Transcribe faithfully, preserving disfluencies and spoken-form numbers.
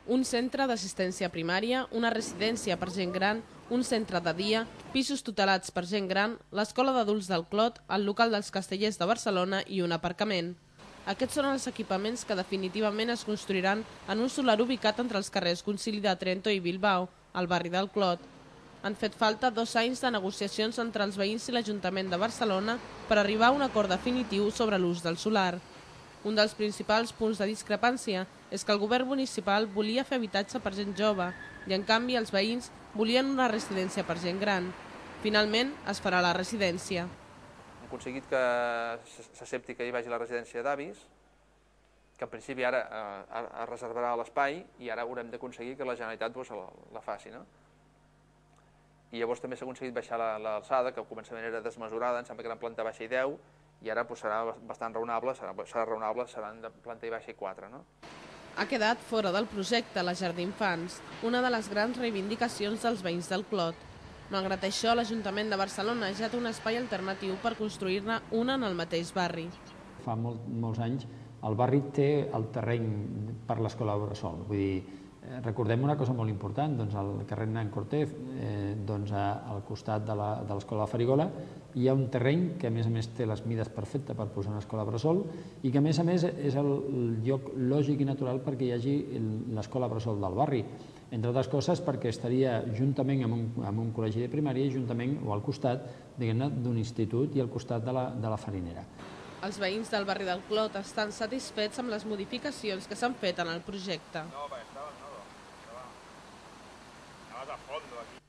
un centre d'assistència primària, una residència per gent gran, un centre de dia, pisos tutelats per gent gran, l'escola d'adults del Clot, el local dels Castellers de Barcelona i un aparcament. Aquests són els equipaments que definitivament es construiran en un solar ubicat entre els carrers Concili de Trento i Bilbao, al barri del Clot. Han fet falta dos anys de negociacions entre els veïns i l'Ajuntament de Barcelona per arribar a un acord definitiu sobre l'ús del solar. Un dels principals punts de discrepància és que el govern municipal volia fer habitatge per gent jove i, en canvi, els veïns volien una residència per gent gran. Finalment, es farà la residència. Hem aconseguit que s'accepti que hi vagi la residència d'avis, que en principi ara es reservarà l'espai i ara haurem d'aconseguir que la Generalitat la faci. I llavors també s'ha aconseguit baixar l'alçada, que al començament era desmesurada, em sembla que era en planta baixa i deu, i ara serà bastant raonable, serà raonable, seran de planta baixa i quatre. Ha quedat fora del projecte la Llar d'Infants, una de les grans reivindicacions dels veïns del Clot. Malgrat això, l'Ajuntament de Barcelona ja té un espai alternatiu per construir-ne una en el mateix barri. Fa molts anys el barri té el terreny per l'escola Bressol. Vull dir, recordem una cosa molt important, al carrer Hernán Cortés, al costat de l'escola Farigola, hi ha un terreny que a més a més té les mides perfectes per posar una escola Bressol i que a més a més és el lloc lògic i natural perquè hi hagi l'escola Bressol del barri. Entre altres coses perquè estaria juntament amb un col·legi de primària i juntament o al costat d'un institut i al costat de la farinera. Els veïns del barri del Clot estan satisfets amb les modificacions que s'han fet en el projecte. No, perquè estava, no, estava a fondo aquí.